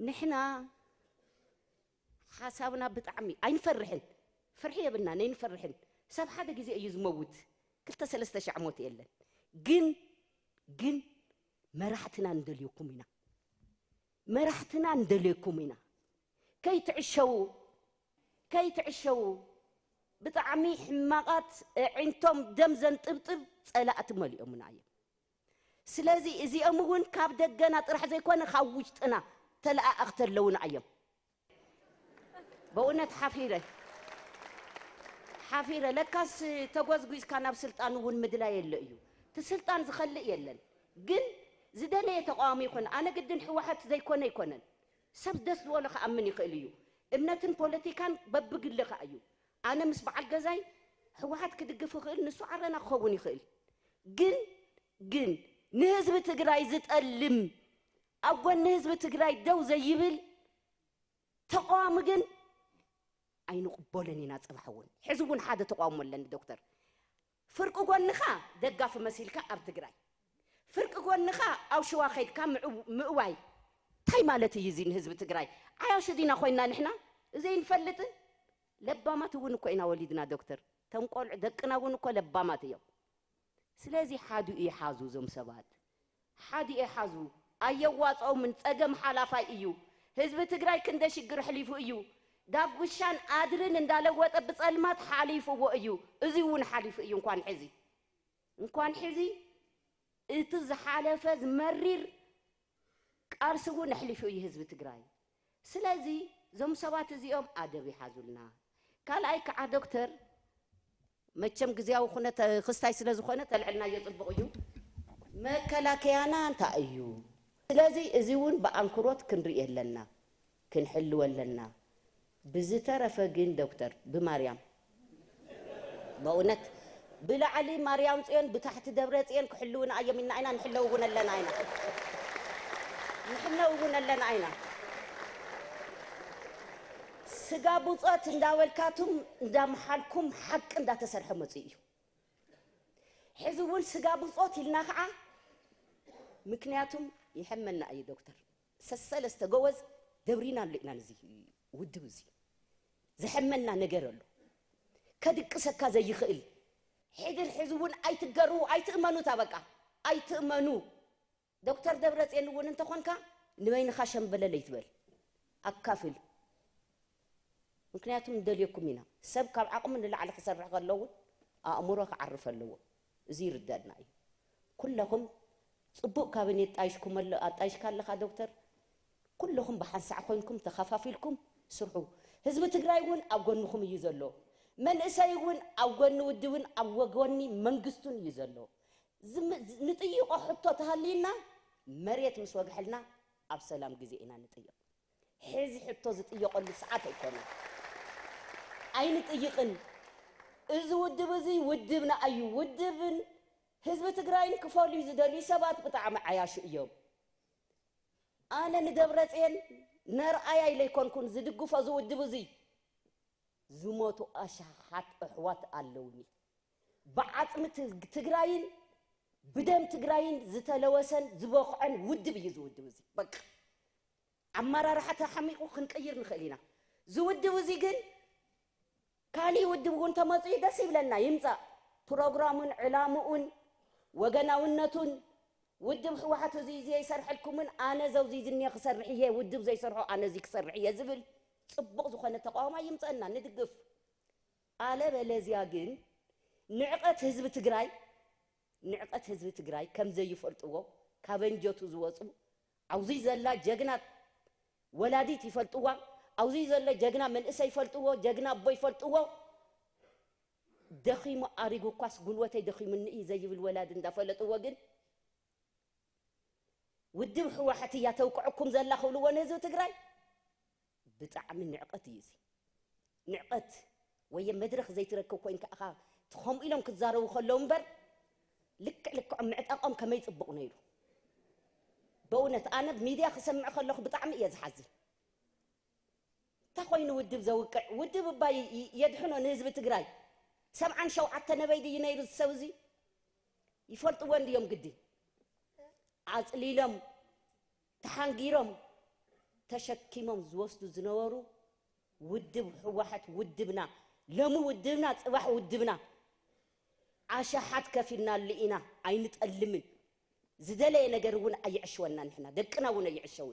ንሕና ሓሳብና ብጣዕሚ ኣይንፈርሕን፣ ፍርሒ የብልና ነይንፈርሕን። ሰብ ሓደ ግዜ እዩ ዝመውት፣ ክልተ ሰለስተ ሻዕ ሞት የለን። ግን ግን መራሕትና እንደልየኩም ኢና፣ መራሕትና እንደልየኩም ኢና። ከይትዕሸዉ፣ ከይትዕሸዉ። ብጣዕሚ ሕማቓት፣ ኣዒንቶም ደም ዘንጥብጥብ ጸላእቲ መሊኦምና እዮም። ስለዚ እዚኦም እውን ካብ ደገና ጥራሕ ዘይኮነ ካብ ውሽጥና ተለኣኣኽቲ ኣለውና እዮም። በእውነት ሓፊረ፣ ሓፊረ። ለካስ ተጎዝጒዝካ ናብ ስልጣን እውን ምድላይ የለ እዩ። እቲ ስልጣን ዝኸልእ የለን። ግን ዝደለየ ተቃዋሚ ይኹን፣ ኣነ ግድን ህወሓት ዘይኮነ ኣይኮነን። ሰብ ደስ ዝበሎ ክኣምን ይኽእል እዩ። እምነትን ፖለቲካን በብግሊ ከኣ እዩ። ኣነ ምስ በዓል ገዛይ ህወሓት ክድግፍ ይኽእል፣ ንሱ ዓረና ክኸውን ይኽእል። ግን ግን ንህዝቢ ትግራይ ዝጠልም፣ ኣብ ጎኒ ህዝቢ ትግራይ ደው ዘይብል ተቃዋሚ ግን ኣይንቕበሎን ኢና። ጽባሕ እውን፣ ሕዚ እውን ሓደ ተቃውሞ ኣለኒ ዶክተር። ፍርቂ ጎንኻ ደጋፊ መሲልካ ኣብ ትግራይ፣ ፍርቂ ጎንኻ ኣብ ሽዋ ከይድካ ምዕው-፣ ምእዋይ። እንታይ ማለት እዩ እዚ ንህዝቢ ትግራይ? ዓያሹ ዲና ኮይንና ንሕና? እዚ ኣይንፈልጥን? ለባማት እውን እኮ ኢና ወሊድና ዶክተር። እቶም ቆልዑ ደቅና እውን እኮ ለባማት እዮም። ስለዚ ሓዲኡ ይሓዙ እዞም ሰባት። ሓዲኡ ይሓዙ። ኣየዋፅኦምን፣ ፀገም ሓላፋይ እዩ። ህዝቢ ትግራይ ክንደ ሽግር ኣሕሊፉ እዩ። ዳጉሻን ኣድርን እንዳለወጠ ብፀልማት ሓሊፍዎ እዩ። እዚ እውን ሓሊፉ እዩ። እንኳን ሕዚ፣ እንኳን ሕዚ እቲ ዝሓለፈ ዝመሪር ቃልሲ እውን ኣሕሊፉ እዩ ህዝቢ ትግራይ። ስለዚ እዞም ሰባት እዚኦም ኣደብ ይሓዙልና። ካልኣይ ከዓ ዶክተር፣ መቸም ግዜያዊ ኩነት ክስታይ ስለ ዝኾነ ተልዕልናዮ ጽቡቕ እዩ። መከላከያና እንታይ እዩ? ስለዚ እዚ እውን ብኣንክሮት ክንርኢ ኣለና፣ ክንሕልዎ ኣለና። ብዝተረፈ ግን ዶክተር፣ ብማርያም፣ በእውነት ብላዕሊ ማርያም ጽዮን ብታሕቲ ደብረ ጽዮን ክሕልውና እዮም ኢልና ኢና፣ ንሕለው እውን ኣለና ኢና፣ ንሕለው እውን ኣለና ኢና። ስጋ ብጾት እንዳበልካቱም እንዳምሓልኩም ሓቂ እንዳተሰርሐ መጽኡ እዩ። ሕዚ እውን ስጋ ብጾት ኢልና ከዓ፣ ምክንያቱም ይሕመና እዩ ዶክተር፣ ሰሰለስተ ጎበዝ ደብሪና ኣሎ ኢና። ነዚ ውድብ እዚ ዘሐመና ነገር ኣሎ፣ ከድቅሰካ ዘይኽእል። ሕድር ሕዚ እውን ኣይትገሩ፣ ኣይትእመኑ፣ እታ በቃ ኣይትእመኑ። ዶክተር ደብረፅዮን እውን እንተኾንካ ንበይንኻ ሸምበለል ኣይትበል፣ ኣካፍል። ምክንያቱም ንደልየኩም ኢና። ሰብ ካብ ዓቕሙ ንላዕሊ ክሰርሕ ከሎ እውን ኣእምሮ ክዓርፍ ኣለዎ። እዚ ይርደኣና እዩ። ኩለኹም ጽቡቕ ካቢኔት ጣይሽኩም ኣሎ-፣ ኣጣይሽካ ኣለኻ ዶክተር። ኩለኹም ብሓንሳዕ ኮይንኩም ተኸፋፊልኩም ስርሑ። ህዝቢ ትግራይ እውን ኣብ ጎንኹም እዩ ዘሎ። መንእሰይ እውን ኣብ ጎኒ ውድብን ኣብ ወጎኒ መንግስቱን እዩ ዘሎ። ዝም-፣ ንጥይቆ ሕቶ ተሃልይና መሬት ምስ ወግሐልና ኣብ ሰላም ግዜ ኢና ንጥይቕ። ሕዚ ሕቶ ዝጥየቐሉ ሰዓት ኣይኮነን። ኣይንጥይቕን። እዚ ውድብ እዚ ውድብና እዩ። ውድብን ህዝቢ ትግራይን ክፈልዩ ዝደልዩ ሰባት ብጣዕሚ ዓያሹ እዮም። ኣነ ንደብረፅየን ነርኣያ ኢለ ኣይኮንኩን ዝድግፎ እዚ ውድብ እዚ። ዝሞቱ ኣሽሓት ኣሕዋት ኣለውኒ። ብዓፅሚ ት-፣ ትግራይን ብደም ትግራይን ዝተለወሰን ዝበኽዐን ውድብ እዩ እዚ ውድብ እዚ። በቃ ኣመራርሓ ተሓሚቑ ክንቅይር ንኽእል ኢና። እዚ ውድብ እዚ ግን ካሊእ ውድብ እውን ተመፅኡ ደስ ይብለና፣ ይምፃእ። ፕሮግራሙን ዕላምኡን ወገናውነቱን፣ ውድብ ህወሓት እዚ እዚ ይሰርሐልኩምን ኣነ ዘውዚ ዝኒየ ክሰርሕ እየ፣ ውድብ ዘይሰርሖ ኣነ እዚ ክሰርሕ እየ ዝብል ፅቡቕ ዝኾነ ተቃውሞ ይምፀና፣ ንድግፍ። ኣለበለዚያ ግን ንዕቐት ህዝቢ ትግራይ፣ ንዕቐት ህዝቢ ትግራይ ከም ዘይፈልጥዎ፣ ካብ ኣንጀቱ ዝወፁ፣ ኣብዚ ዘላ ጀግና ወላዲት ይፈልጥዋ፣ ኣብዚ ዘሎ ጀግና መንእሰይ ይፈልጥዎ፣ ጀግና ኣቦ ይፈልጥዎ። ደኺሙ ኣሪጉ እኳስ ጉልበተይ ደኺሙኒ እዩ ዘይብል ወላዲ እንዳፈለጥዎ ግን ውድብ ህወሓት እያ ተውቅዐኩም ዘላ ክብልዎ ንህዝቢ ትግራይ ብጣዕሚ ንዕቐት እዩ እዚ። ንዕቐት ወየ መድረኽ ዘይትረክብ ኮይንካ ኢኻ እቲ ከምኡ ኢሎም ክዛረቡ ከለዉ እምበር ልክዕ ልክዖም ምዕጣቖም ከመይ ጽቡቕ ነይሩ። በእውነት ኣነ ሚድያ ክሰምዕ ከለኹ ብጣዕሚ እየ ዝሓዝን። እንታይ ኮይኑ ውድብ ዘውቅዕ? ውድብ እባ ይ-፣ ይ-፣ የድሕኖ ንህዝቢ ትግራይ። ሰብዓን ሸውዓተ ነበይ ድዩ ነይሩ እዚ ሰብ እዚ? ይፈልጥዎ እንድዮም ግዲ። ኣጽሊሎም፣ ተሓንጊሮም፣ ተሸኪሞም ዝወስዱ ዝነበሩ ውድብ ህወሓት ውድብና፣ ሎሚ ውድብና፣ ፅባሕ ውድብና፣ ኣሽሓት ከፊልናሉ ኢና፣ ኣይንጠልምን። ዝደለየ ነገር እውን ኣይዕሽወና፣ ንሕና ደቅና እውን ኣይዕሸውን።